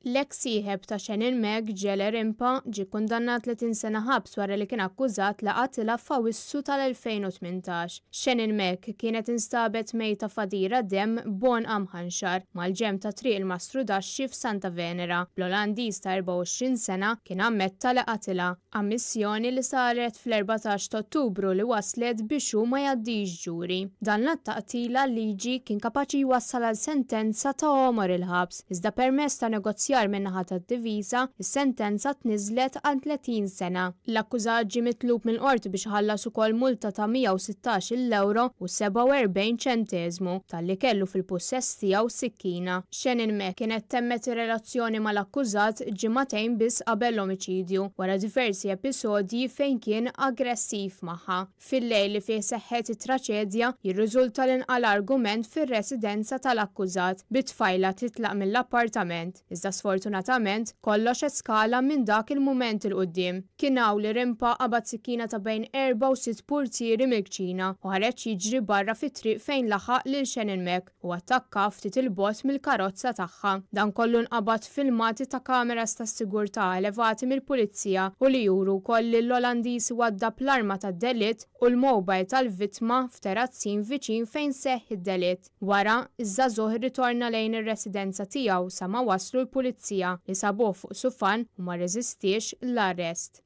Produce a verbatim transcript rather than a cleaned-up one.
L-eks sieħeb ta' Shannon Mack, Jelle Rimpa, ġie kundannat tletin sena ħabs wara li kien akkużat li qatilha f'Awwissu tal-elfejn u tmintax. Shannon Mack kienet instabet mejta f'għadira demm b'għonqha mħanxar mal-ġenb ta' Triq il-Mastru Daxxi f'Santa Venera. Bl-Olandiż ta' erbgħa u għoxrin sena kien ammetta li qatilha. Ammissjoni li saret fl-erbatax ta' Ottubru li waslet biex hu ma jgħaddix ġuri. Dan l-att ta' qtila liġi kien kapaċi jwassal għal sentenza ta' għomor il-ħabs, iżda permezz ta' negozjar min-naħa tad-diviża, is-sentenza tniżlet għal tletin sena. L-akkużat ġie mitlub mill-qorti biex iħallas ukoll multa ta' mija u sittax-il euro u sebgħa u erbgħin ċenteżmu talli kellu fil-pussess tiegħu sikkina. Shannon Mack kienet temmet ir-relazzjoni mal-akkużat ġimagħtejn biss qabel l-omiċidju, wara diversi episodji fejn kien aggressiv magħha. Fil-lejl li fih seħħet it-traċedja jirriżulta li nqala argument fir-residenza tal-akkużat bit-tfajla titlaq mill-appartament. Iżda sfortunatament kollox eskala minn dak il-mument il quddiem. Kien hawn li Rimpa qabad sikkina ta' bejn erba' u sitt purtieri mill-kċina u ħareġ jiġri barra fit-triq fejn laħaq lil Shannon Mack u attakka ftit il-bogħod mill-karozza tagħha. Dan kollu nqabad filmati ta' kameras tas-sigurtà elevati mill-pulizija u li juru wkoll li l-Olandiż waddab l-arma tad-delitt u l-mobile tal-vittma f'terazzin viċin fejn seħħ id-delitt. Wara, iż-żagħżugħ irritorna lejn ir-residenza tiegħu sa ma waslu l-pulizija li sabuh fuq sufan u ma rreżistiex l-arrest.